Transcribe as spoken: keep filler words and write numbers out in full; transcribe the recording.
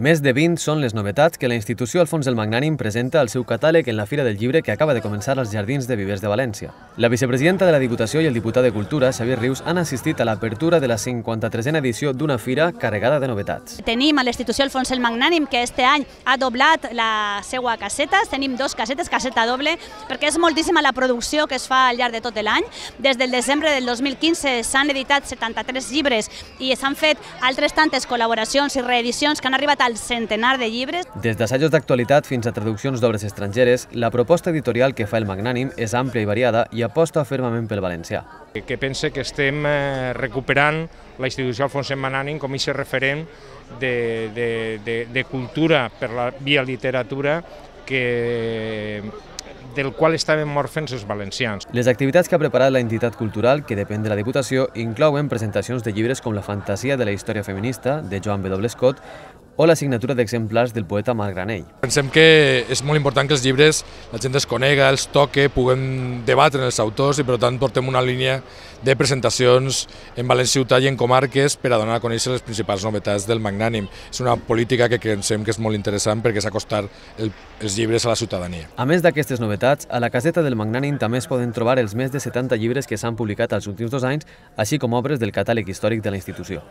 Més de vint són les novetats que la institució Alfons el Magnànim presenta al seu catàleg en la Fira del Llibre que acaba de començar als Jardins de Vivers de València. La vicepresidenta de la Diputació i el diputat de Cultura, Xavier Rius, han assistit a l'apertura de la cinquanta-tresena edició d'una fira carregada de novetats. Tenim a l'institució Alfons el Magnànim, que este any ha doblat la seva caseta. Tenim dos casetes, caseta doble, perquè és moltíssima la producció que es fa al llarg de tot l'any. Des del desembre del dos mil quinze s'han editat setanta-tres llibres i s'han fet altres tantes col·laboracions i reedicions que han arribat al centenar de llibres. Des d'assajos d'actualitat fins a traduccions d'obres estrangeres, la proposta editorial que fa el Magnànim és àmplia i variada i aposta fermament pel valencià. Que pense que estem recuperant la institució Alfons el Magnànim com a aquest referent de, de, de, de cultura per la via literatura que del qual estaven morfents els valencians. Les activitats que ha preparat la entitat cultural, que depèn de la Diputació, inclouen presentacions de llibres com La fantasia de la història feminista, de Joan W. Scott, o la signatura d'exemplars del poeta Marc Granell. Pensem que és molt important que els llibres la gent els conega, els toque, puguem debatre els autors i per tant portem una línia de presentacions en València Ciutat i en comarques per a donar a conèixer les principals novetats del Magnànim. És una política que pensem que és molt interessant perquè és acostar el, els llibres a la ciutadania. A més d'aquestes novetats, a la caseta del Magnànim també es poden trobar els més de setanta llibres que s'han publicat els últims dos anys, així com obres del catàleg històric de la institució.